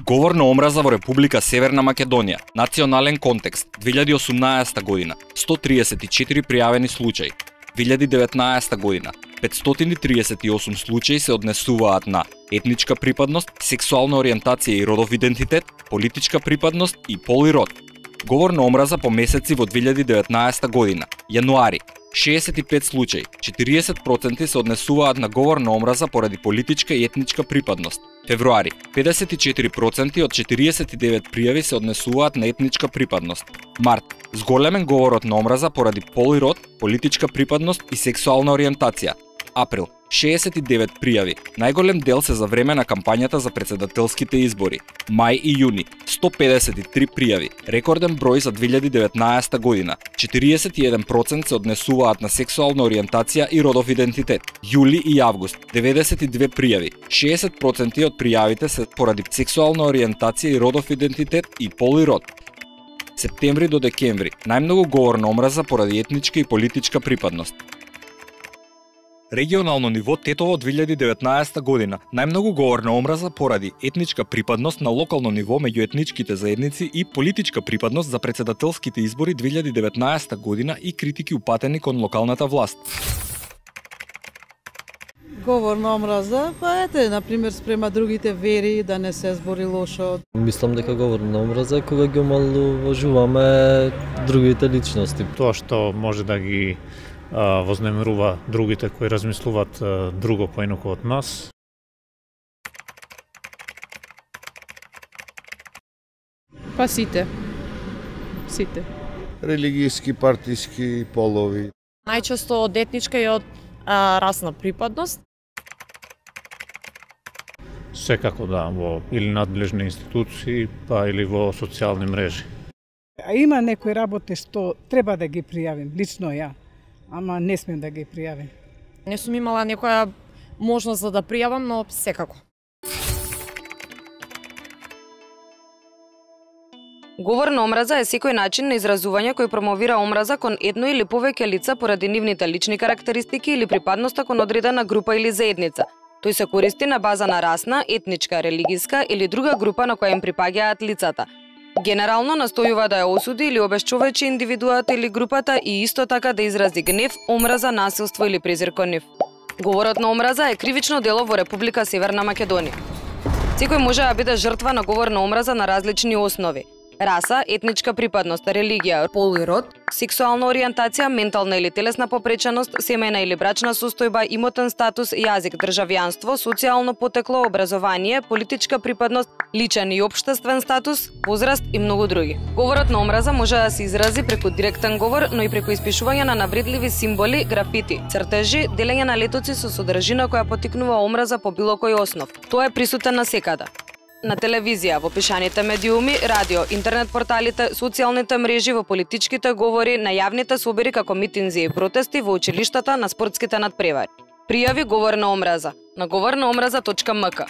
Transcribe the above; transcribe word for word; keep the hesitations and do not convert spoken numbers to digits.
Говор на омраза во Република Северна Македонија. Национален контекст. две илјади и осумнаесета година. сто триесет и четири пријавени случаи. две илјади и деветнаесета година. петстотини триесет и осум случаи се однесуваат на етничка припадност, сексуална ориентација и родов идентитет, политичка припадност и пол и род. Говор на омраза по месеци во две илјади и деветнаесета година. Јануари шеесет и пет случаи, четириесет проценти се однесуваат на говор на омраза поради политичка и етничка припадност. Февруари педесет и четири проценти од четириесет и девет пријави се однесуваат на етничка припадност. Март зголемен говорот на омраза поради пол и род, политичка припадност и сексуална ориентација. Април шеесет и девет пријави, најголем дел се за време на кампањата за претседателските избори. Мај и јуни сто педесет и три пријави, рекорден број за две илјади и деветнаесета година. четириесет и еден проценти се однесуваат на сексуална ориентација и родов идентитет. Јули и август деветдесет и две пријави, шеесет проценти од пријавите се поради сексуална ориентација и родов идентитет и пол и род. Септември до декември најмногу говор на омраза поради етничка и политичка припадност. Регионално ниво Тетово две илјади и деветнаесета година. Најмногу говор на омраза поради етничка припадност на локално ниво меѓу етничките заедници и политичка припадност за претседателските избори две илјади и деветнаесета година и критики упатени кон локалната власт. Говор на омраза, па ете, например, спрема другите вери, да не се збори лошо. Мислам дека говор на омраза е кога ги омалуважуваме другите личности. Тоа што може да ги вознемирува другите кои размислуваат друго поинаку од нас. Па сите. Сите. Религијски, партиски, полови. Најчесто од етничка и од а, расна припадност. Секако да, во или надлежни институции, па или во социјални мрежи. А има некои работи што треба да ги пријавим, лично ја. Ама не смем да ги пријавим. Не сум имала некоја можност за да пријавам, но секако. Говор на омраза е секој начин на изразување кој промовира омраза кон едно или повеќе лица поради нивните лични карактеристики или припадноста кон одредена група или заедница. Тој се користи на база на расна, етничка, религиска или друга група на која им припаѓаат лицата. Генерално настојува да ја осуди или обесчовечи индивидуата или групата и исто така да изрази гнев, омраза, насилство или презир кон нив. Говорот на омраза е кривично дело во Република Северна Македонија. Секој може да биде жртва на говор на омраза на различни основи: раса, етничка припадност, религија, пол и род, сексуална ориентација, ментална или телесна попреченост, семејна или брачна состојба, имотен статус, јазик, државјанство, социјално потекло, образование, политичка припадност, личен и општествен статус, возраст и многу други. Говорот на омраза може да се изрази преку директен говор, но и преку испишување на навредливи символи, графити, цртежи, делење на летоци со содржина која поттикнува омраза по било кој основ. Тоа е присутен насекаде. На телевизија, во пишаните медиуми, радио, интернет порталите, социјалните мрежи, во политичките говори, на јавните собери како митинзи и протести, во училиштата, на спортските надпревари. Пријави говор на омраза на говор на омраза точка ем ка.